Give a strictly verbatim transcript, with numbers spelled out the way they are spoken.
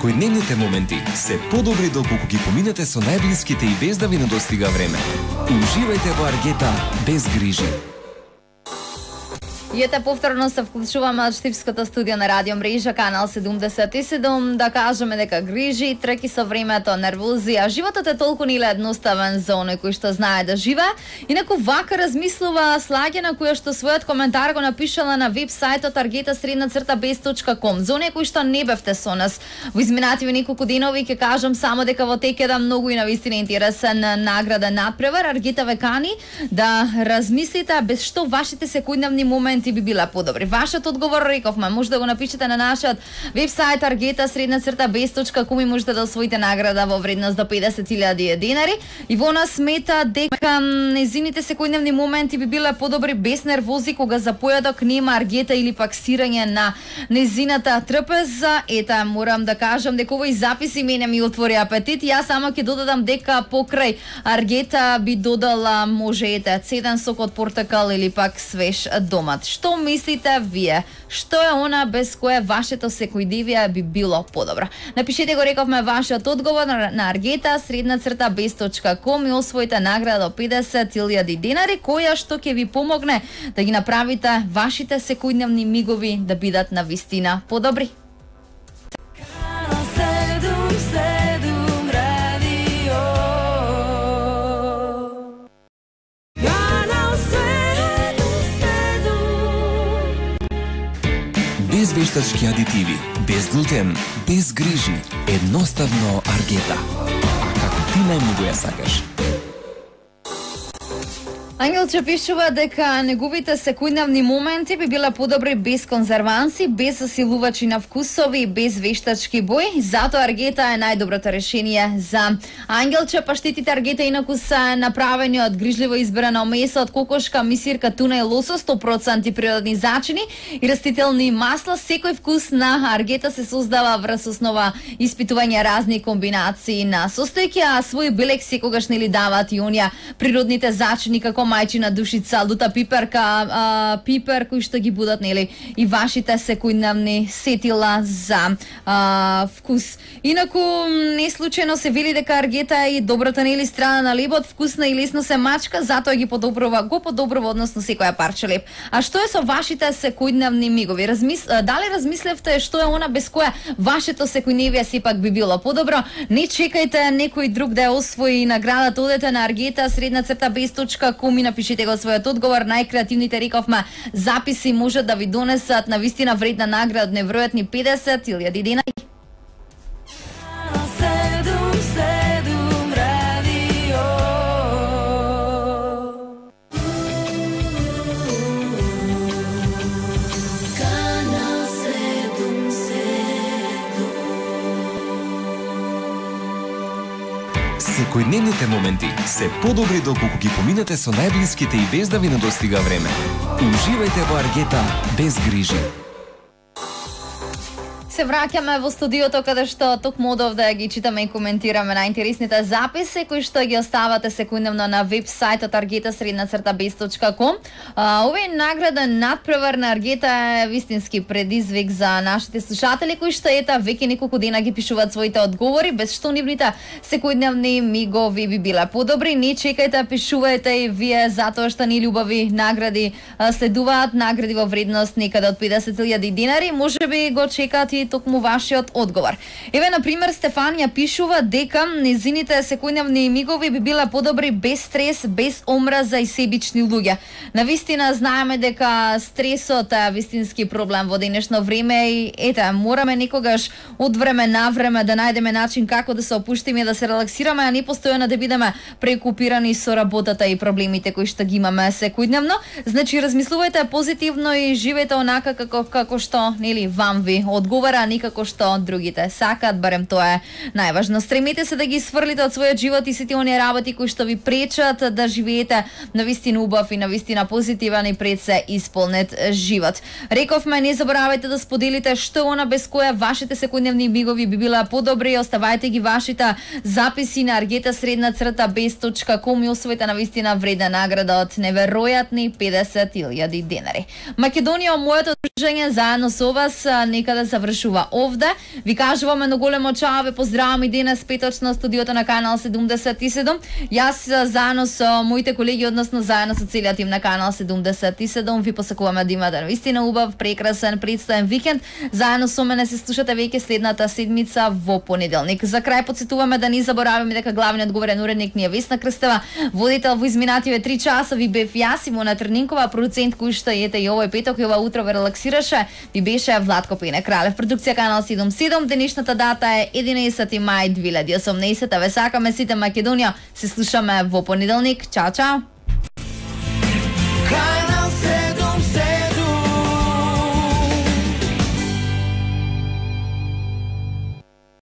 Секојдневните моменти се подобри доколку ги поминете со најблиските и без да ви недостига време. Уживајте во Аргета без грижи. И ете повторно се вклучуваме од Штипското студио на Радио Мрежа, канал седумдесет и седум, да кажеме дека грижи, треки со времето, нервози, а животот е толку ниле едноставен за оној кој што знае да живее. Инаку вака размислува Слагена, која што својот коментар го напишала на веб-сајтот argeta sredna crta bez точка com. За оние кои што не бевте со нас во изминативи неколку денови, ќе кажам само дека во тек еден многу и навистина интересен награда надпревар. Аргета ве кани да размислите без што вашите секојдневни моменти би била подобри. Вашиот одговор, рековме, може да го напишете на нашиот веб-сајт argeta sredna crta bez точка com и можете да освоите награда во вредност до педесет илјади денари. И во нас смета дека незините секојдневни моменти би биле подобри без нервози кога за појадок нема аргета или пак сирање на незината трпеза. Ета, морам да кажам дека овој записи мене ми отвори апетит. Јас само ќе додадам дека покрај аргета би додала може ете цеден сок од портакал или пак свеж домат. Што мислите вие? Што е она без кое вашето секојдневие би било подобро? Напишете го, рековме, вашиот одговор на argeta sredna crta bez точка com и освоите награда до педесет илјади денари, која што ќе ви помогне да ги направите вашите секојдневни мигови да бидат навистина подобри. Без вештачки адитиви, без глутен, без грижи, едноставно Аргета. А како ти најмногу ја сакаш? Ангелче пишува дека неговите секојдневни моменти би биле подобри без конзерванси, без засилувачи на вкусови, без вештачки бои. Затоа Аргета е најдоброто решение за Ангелче. Паштетите Аргета инаку се направени од грижливо избрано месо од кокошка, мисирка, туна и лосос, сто проценти природни зачини и растителни масла. Секој вкус на Аргета се создава врз основа испитување разни комбинации на состојки, а свој белек секогаш нели даваат и оние природните зачини како мајчина душица, лута пиперка, а, пипер кои што ги будат нели и вашите секојдневни сетила за а, вкус. Инаку не случајно се вели дека Аргета е и добрата нели страна на лебот, вкусна и лесно се мачка, затоа ги подобрува, го подобрува односно секоја парче леб. А што е со вашите секојдневни мигови? Размис... Дали размислевте што е она без кое вашето секојдневие сепак би било подобро? Не чекајте некој друг да ја освои наградата, одете на argeta sredna crta bez точка com и напишите го својот одговор. Најкреативните, рековме, записи може да ви донесат на вистина вредна награда од невројатни педесет илјади денари. Секојдневните моменти се подобри доколку ги поминете со најблиските и без да ви недостига време. Уживајте во Аргета без грижи. Се враќаме во студиото каде што токму од овде ги читаме и коментираме најинтересните записи кои што ги оставате секојдневно на веб-сајтот argeta sredna crta bez точка com. Овој награда надпревар на Аргета е вистински предизвик за нашите слушатели кои што ета веќе неколку дена ги пишуваат своите одговори, без што нивните секојдневни мигови би биле подобри. Не чекајте, пишувајте и вие, затоа што ни љубави награди следуваат, награди во вредност некаде од педесет илјади денари. Можеби го чекаат и токму вашиот одговор. Еве, на пример, Стефанија пишува дека незините секојдневни мигови би биле подобри без стрес, без омраза и себични луѓе. Навистина знаеме дека стресот е вистински проблем во денешно време и ете, мораме некогаш од време на време да најдеме начин како да се опуштиме и да се релаксираме, а не постојано да бидеме преокупирани со работата и проблемите кои што ги имаме секојдневно. Значи, размислувајте позитивно и живеете онака како како што нели вам ви одговара, а никако што другите сакаат, барем тоа е најважно. Стремете се да ги сврлите од својот живот и сите оние работи кои што ви пречат да живеете навистина убав и навистина позитивен и пред се исполнет живот. Рековме, не заборавајте да споделите што она без кое вашите секојдневни мигови би била подобри. Оставајте ги вашите записи на argeta sredna crta bez точка com и освоите навистина вредна награда од неверојатни педесет илјади денари. Македонија, моето дружење заедно со вас некаде завршува чува овде. Ви кажуваме на големо чао, ве поздраваме и денес петочно студиото на Канал седумдесет и седум. Јас заедно со моите колеги, односно заедно со целиот тим на Канал седумдесет и седум, ви посакуваме да имате наистина убав, прекрасен, предстоен викенд. Заедно со мене се слушате веќе следната седмица во понеделник. За крај потсетуваме да не забораваме дека главниот говорен уредник ни е Весна Крстева, водител во изминативе три часа ви бев јас, Симона Трнинкова, продуцент кој што ете и овој петок и ова утро ве релаксираше, ви беше Владко Пене Кралев. Продукција Канал седумдесет и седум, денешната дата е единаесети мај две илјади и осумнаесета. Ве сакаме сите Македонија, се слушаме во понеделник. Чао, чао!